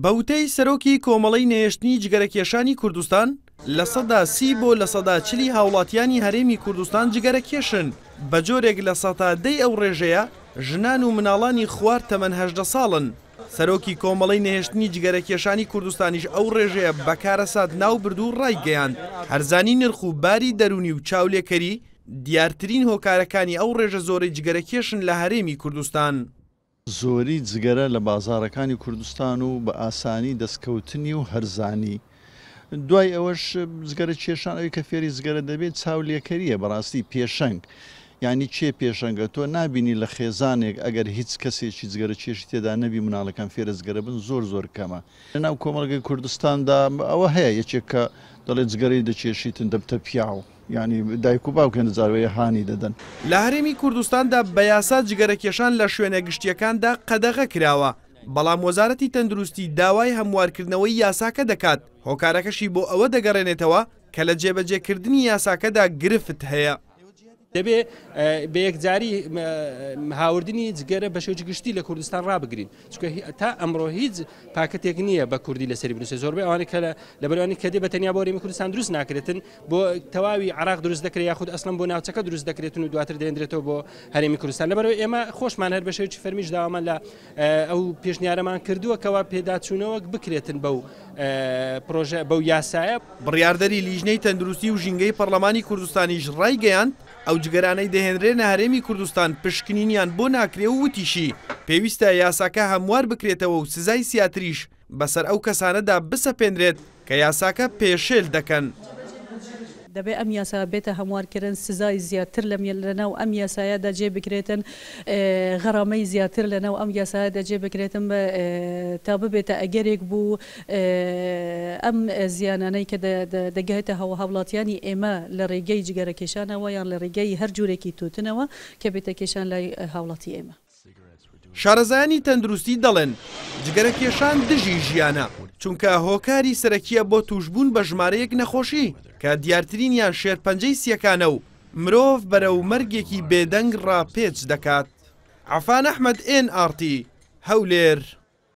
بە وتەی سەرۆکی کۆمەڵەی نەهێشتنی جگەرەکێشانی کوردستان، 30% بۆ 40% ی هاوڵاتیانی هەرێمی کوردستان جگەرەکێشن، بە جۆرێک 10% ی ئەو ڕێژەیە ژنان و مناڵانی خوار تەمەن 18 ساڵن. سەرۆکی کۆمەڵەی نەهێشتنی جگەرەکێشانی کوردستانیش ئەو ڕێژەیە بە کارەسات ناوبرد و ڕایگەیاند، هەرزانی نرخ و باری دەروونی و چاولێکەری دیارترین هۆکارەکانی ئەو ڕێژە زۆرەی جگەرەکێشن لە هەرێمی کوردستان. زۆری جگەرە لە بازاڕەکانی کوردستان و بە ئاسانی دەستکەوتنی و هەرزانی، دوای ئەوەش جگەرە کێشان ئەوی کە فێری جگەرە دەبێت چاولێکەریە بەڕاستی پێشەنگ یانی کێ پێشەنگە تۆ نابینی لە خێزانێک ئەگەر هیچ کەسێکی جگەرە کێشی تێدا نەبی مناڵەکان فێرە جگەرە بن زۆر زۆر کەمە. لەناو کۆمەڵگەی کوردستاندا ئەوە هەیە یەکێک کە دەڵێ جگەرەی دەکێشیتن دەبتە پیاو یانی دایک و باوک هێندە جار وەیە هانی دەدەن. لە هەرێمی کوردستاندا بە یاسا جگەرەکێشان لە شوێنە گشتییەکاندا قەدەغە کراوە، بەڵام وەزارەتی تەندروستی داوای هەموارکردنەوەی یاساکە دەکات، هۆکارەکەشی بۆ ئەوە دەگەڕێنێتەوە کە لە جێبەجێکردنی یاساکەدا گرفت هەیە. دەبێ بە یەکجاری هاوردنی جگەرە بە شێوەیەکی گشتی لە کوردستان ڕابگرین، چونکە تا ئەمڕۆ هیچ پاکەتێک نییە بە کوردی لەسەری بنووسێت. زۆربەی ئەوانەی کە لەبەرئەوەی کە دێ بە تەنیا بۆ هەرێمی کوردستان دروست ناکرێتن، بۆ تەواوی عراق دروست دەکرێت یاخود ئەسڵەن بۆ ناوچەکە دروست دەکرێتن و دواتر دەێندرێتەوە بۆ هەرێمی کوردستان. لەبەرئەوەی ئێمە خۆشمان هەر بە شێوەیەکی فەرمیش داوامان لە ئەو پێشنیارەمان کردووە کەوا پێداچوونەوەک بکرێتن بەو پرۆژە بەو یاسایە. بڕیاردەری لیژنەی تەندروستی و ژینگەی پەڕلەمانی کوردستانیش ڕایگەیاند، ئەو جگەرانەی دەهێنرێنە هەرێمی کوردستان پشکنینیان بۆ ناکرێ و وتیشی، پێویستە یاساکە هەموار بکرێتەوە و سزای سیاتریش بەسەر ئەو کەسانەدا بسەپێنرێت کە یاساکە پێشێل دەکەن. دەبێت ئەم یاسایە بێتە هەموارکردن، سزای زیاتر لەناو ئەم یاسایەدا جێ بکرێتن، غەرامەی زیاتر لەناو ئەم یاسایەدا جێ بکرێتن تا ببێتە ئەگەرێک بۆ ئەم زیانانەی کە دەگاتە هاوڵاتیانی ئێمە لە ڕێگەی جگەرەکێشانەوە یان لە ڕێگەی هەر جورێکی توتنەوە کە بێتە کێشان لای هاوڵاتی ئێمە. شارەزایانی تەندروستی دەڵێن، جگەرەکێشان دژی ژیانە، چونکە هۆکاری سەرەکییە بۆ تووشبوون بە ژمارەیەک نەخۆشی، کە دیارترینیان شێرپەنجەی سییەکانە و مرۆڤ بەرەو مەرگێکی بێدەنگ ڕاپێچ دەکات. عەفان ئەحمەد، ئێن ئاڕ تی، هەولێر.